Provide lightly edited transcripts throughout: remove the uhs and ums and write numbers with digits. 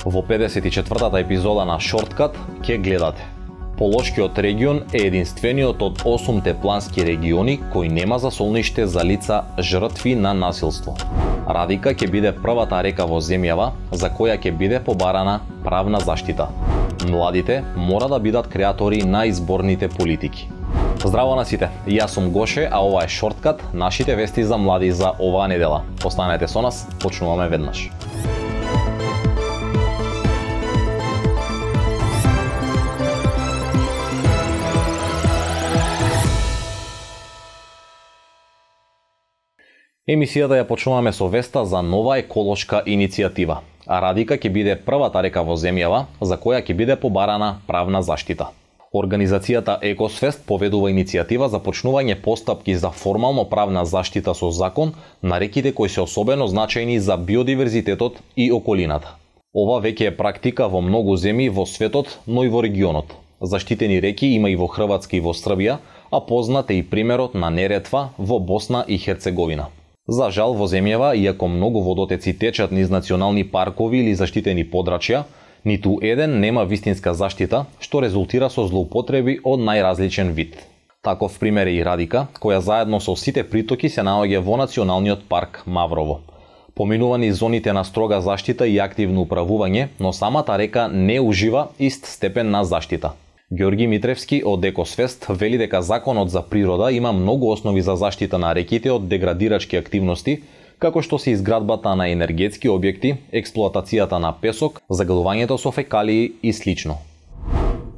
Во 54-та епизода на Шорткат ќе гледате. Полошкиот регион е единствениот од 8 плански региони кој нема засолниште за лица жртви на насилство. Радика ќе биде првата река во земјава за која ќе биде побарана правна заштита. Младите мора да бидат креатори на изборните политики. Здраво на сите, јас сум Гоше, а ова е Шорткат, нашите вести за млади за оваа недела. Останете со нас, почнуваме веднаш. Емисијата ја почнуваме со веста за нова еколошка иницијатива. Радика ќе биде првата река во земјава за која ќе биде побарана правна заштита. Организацијата Екосфест поведува иницијатива за почнување постапки за формално правна заштита со закон на реките кои се особено значајни за биодиверзитетот и околината. Ова веќе е практика во многу земји во светот, но и во регионот. Заштитени реки има и во Хрватска и во Србија, а познат е и примерот на Неретва во Босна и Херцеговина. За жал во земјава, иако многу водотеци течат низ национални паркови или заштитени подрачја, ниту еден нема вистинска заштита, што резултира со злоупотреби од најразличен вид. Таков пример е и Радика, која заедно со сите притоки се наоѓа во Националниот парк Маврово. Поминувани зоните на строга заштита и активно управување, но самата река не ужива ист степен на заштита. Ѓорги Митревски од Екосфест вели дека законот за природа има многу основи за заштита на реките од деградирачки активности, како што се изградбата на енергетски објекти, експлоатацијата на песок, загалувањето со фекалии и слично.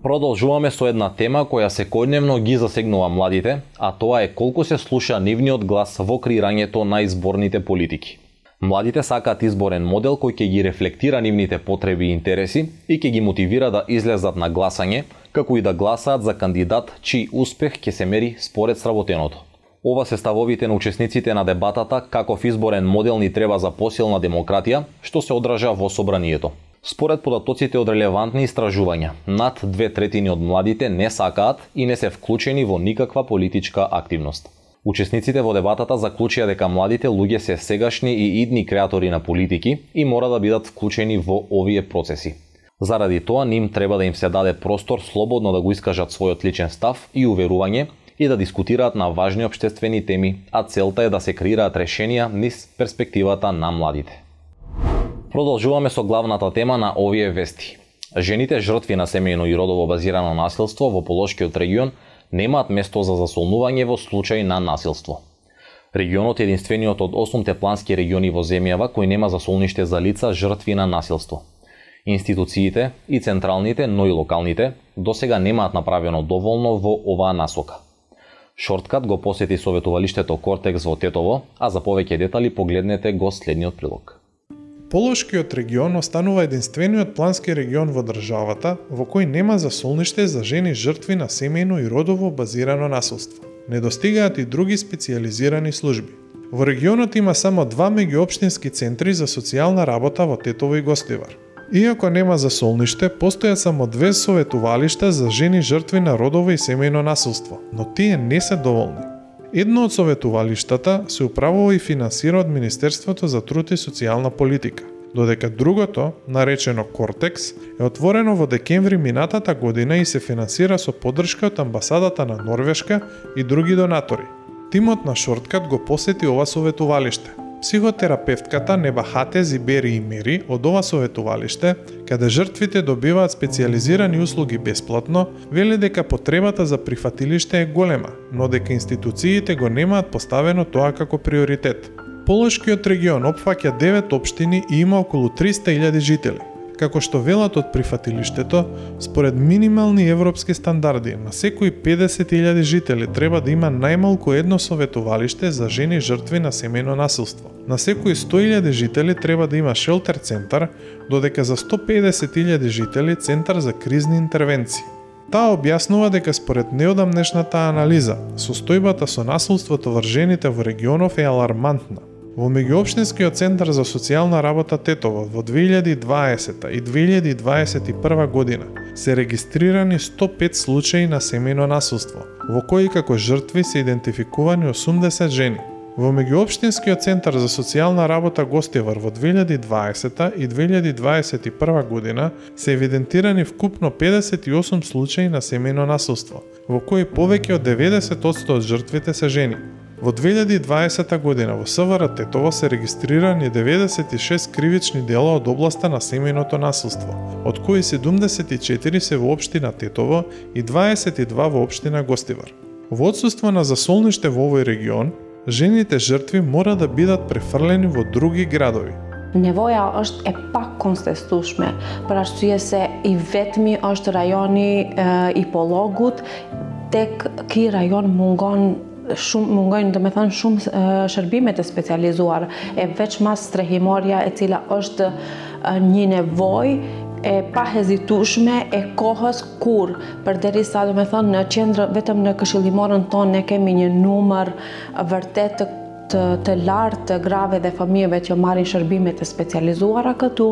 Продолжуваме со една тема која секојдневно ги засегнува младите, а тоа е колку се слуша нивниот глас во креирањето на изборните политики. Младите сакаат изборен модел кој ќе ги рефлектира нивните потреби и интереси и ќе ги мотивира да излезат на гласање, како и да гласаат за кандидат чиј успех ќе се мери според сработеното. Ова се ставовите на учесниците на дебатата каков изборен модел ни треба за посилна демократија, што се одража во собранието. Според податоците од релевантни истражувања, над 2/3 од младите не сакаат и не се вклучени во никаква политичка активност. Учесниците во дебатата заклучија дека младите луѓе се сегашни и идни креатори на политики и мора да бидат вклучени во овие процеси. Заради тоа ним треба да им се даде простор слободно да го искажат својот личен став и уверување и да дискутираат на важни општествени теми, а целта е да се креираат решенија низ перспективата на младите. Продолжуваме со главната тема на овие вести. Жените жртви на семејно и родово базирано насилство во Полошкиот регион немаат место за засолнување во случај на насилство. Регионот е единствениот од 8 плански региони во земјава кој нема засолниште за лица жртви на насилство. Институциите и централните, но и локалните, досега немаат направено доволно во оваа насока. Шорткат го посети советувалиштето Кортекс во Тетово, а за повеќе детали погледнете го следниот прилог. Полошкиот регион останува единствениот плански регион во државата во кој нема засолниште за жени жртви на семејно и родово базирано насилство. Не достигаат и други специјализирани служби. Во регионот има само 2 меѓуопштински центри за социјална работа во Тетово и Гостивар. Иако нема засолниште, постојат само 2 советувалишта за жени жртви на родово и семејно насилство, но тие не се доволни. Едно од советувалиштата се управува и финансира од Министерството за труд и социјална политика, додека другото, наречено Кортекс, е отворено во декември минатата година и се финансира со поддршка од амбасадата на Норвешка и други донатори. Тимот на Шорткат го посети ова советувалиште. Психотерапевтката Небахате Зибери и Мери од ова советувалиште, каде жртвите добиваат специјализирани услуги бесплатно, вели дека потребата за прифатилиште е голема, но дека институциите го немаат поставено тоа како приоритет. Полошкиот регион опфаќа 9 општини и има околу 300.000 жители. Како што велат од прифатилиштето, според минимални европски стандарди, на секои 50.000 жители треба да има најмалку едно советувалиште за жени жртви на семејно насилство. На секои 100.000 жители треба да има шелтер центар, додека за 150.000 жители центар за кризни интервенции. Таа објаснува дека според неодамнешната анализа, состојбата со насилството врз жените во регионов е алармантна. Во меѓуопштинскиот центар за социјална работа Тетово во 2020 и 2021 година се регистрирани 105 случаи на семејно насилство, во кои како жртви се идентификувани 80 жени. Во меѓуопштинскиот центар за социјална работа Гостивар во 2020 и 2021 година се евидентирани вкупно 58 случаи на семејно насилство, во кои повеќе од 90% од жртвите се жени. Во 2020 година во СВР Тетово се регистрирани 96 кривични дела од областа на семејното насилство, од кои 74 се во општина Тетово и 22 во општина Гостивар. Во отсуство на засолниште во овој регион, жените жртви мора да бидат префрлени во други градови. Nevoja është e pakontestueshme, për arsye se I vetmi është rajoni I Pollogut, tek ky rajon mungojnë domethënë shumë shërbime të specializuar, e veçmas strehimorja e cila është një nevojë e pahezitueshme e kohës kur përderisa domethënë në qendrë vetëm në këshillimorën tonë ne kemi një numër vërtet të lartë të grave dhe fëmijëve që marrin shërbime të specializuara këtu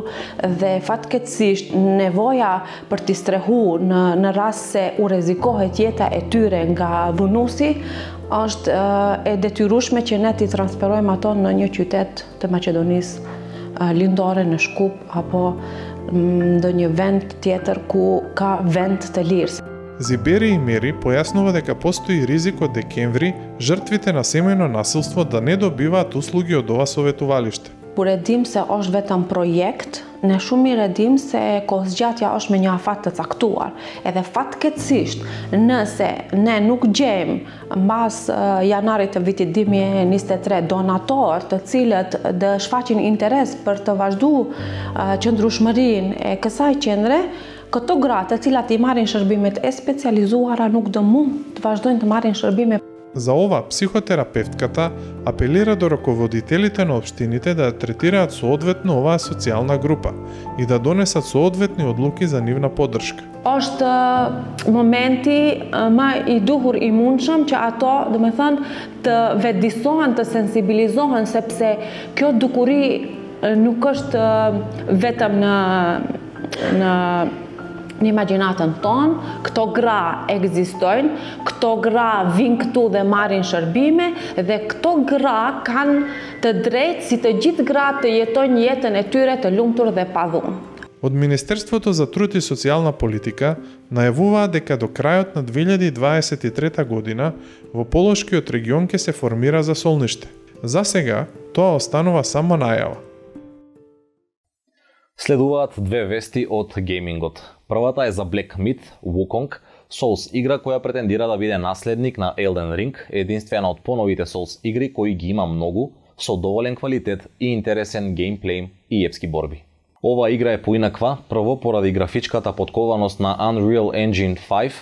dhe fatkeqësisht nevoja për t'i strehuar në rast se u rrezikohet jeta e tyre nga dhunuesi është e detyrueshme që ne t'i transferojmë ato në një qytet të Maqedonisë lindore, në Shkup apo ndonjë vend tjetër ku ka vend të lirë. Зибери и Мери појаснува дека постои ризик од декември жртвите на семејно насилство да не добиваат услуги од ова советувалиште. Kur e dim se është vetëm projekt, ne shumë mirë e dim se kohëzgjatja është me një afat të caktuar. Edhe fatkeqësisht, nëse ne nuk gjejmë mbas janarit të vitit 2023 donator të cilët të shfaqin interes për të vazhduar qëndrueshmërinë e kësaj qendre, këto gratë të cilat I marrin shërbimet e specializuara nuk do mund të vazhdojnë të marrin shërbime. За ова, психотерапевтката апелира до раководителите на општините да третираат соодветно оваа социјална група и да донесат соодветни одлуки за нивна поддршка. Është momenti më I duhur I mundshëm që ato, domethënë, të vetëdijsohen, të sensibilizohen sepse kjo dukuri nuk është vetëm në imagjinatën tonë, këto gra ekzistojnë, këto gra vinë këtu dhe marrin shërbime dhe këto gra kanë të drejtë si të gjithë gratë të jetojnë jetën e tyre të lumtur dhe pa dhunë. Од Министерството за труд и социјална политика најавуваа дека до крајот на 2023 година во Полошкиот регион ќе се формира засолниште. За сега, тоа останува само најава. Следуваат две вести од геймингот. Првата е за Black Myth Wukong, Souls игра која претендира да биде наследник на Elden Ring, единствена од поновите Souls игри кои ги има многу, со доволен квалитет и интересен геймплей и епски борби. Ова игра е поинаква, прво поради графичката поткованост на Unreal Engine 5,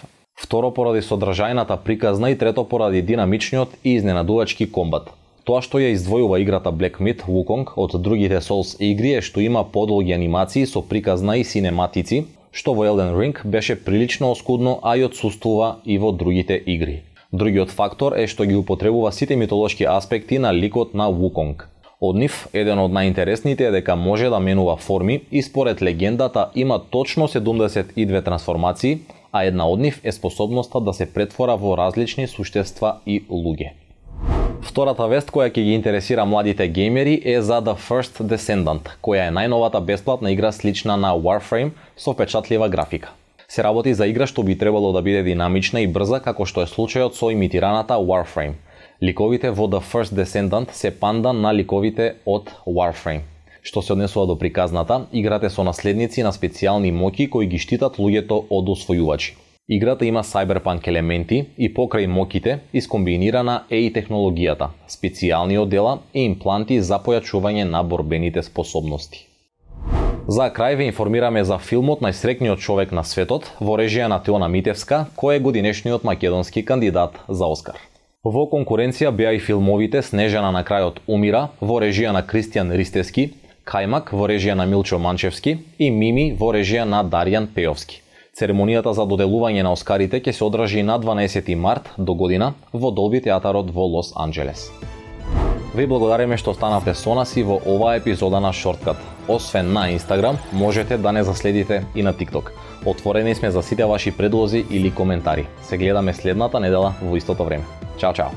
второ поради содржајната приказна и трето поради динамичниот и изненадувачки комбат. Тоа што ја издвојува играта Black Myth Wukong од другите Souls игри е што има подолги анимации со приказна и синематици, што во Elden Ring беше прилично оскудно, а и отсуствува и во другите игри. Другиот фактор е што ги употребува сите митолошки аспекти на ликот на Wukong. Од нив, еден од најинтересните е дека може да менува форми и според легендата има точно 72 трансформации, а една од нив е способноста да се претвора во различни суштества и луѓе. Втората вест која ќе ги интересира младите геймери е за The First Descendant, која е најновата бесплатна игра слична на Warframe со впечатлива графика. Се работи за игра што би требало да биде динамична и брза како што е случајот со имитираната Warframe. Ликовите во The First Descendant се пандан на ликовите од Warframe. Што се однесува до приказната, играте со наследници на специјални моќи кои ги штитат луѓето од освојувачи. Играта има cyberpunk елементи и покрај моките искомбинирана е и технологијата, специјални оддела и импланти за појачување на борбените способности. За крај ве информираме за филмот Најсрекниот човек на светот во режија на Теона Митевска, кој е годинешниот македонски кандидат за Оскар. Во конкуренција беа и филмовите Снежана на крајот умира во режија на Кристијан Ристевски, Кајмак во режија на Милчо Манчевски и Мими во режија на Дарјан Пејовски. Церемонијата за доделување на Оскарите ќе се одржи на 12 март до година во Долби театарот во Лос Анџелес. Ви благодариме што останавте со нас и во оваа епизода на Shortcut. Освен на Инстаграм, можете да не заследите и на TikTok. Отворени сме за сите ваши предлози или коментари. Се гледаме следната недела во истото време. Чао, чао!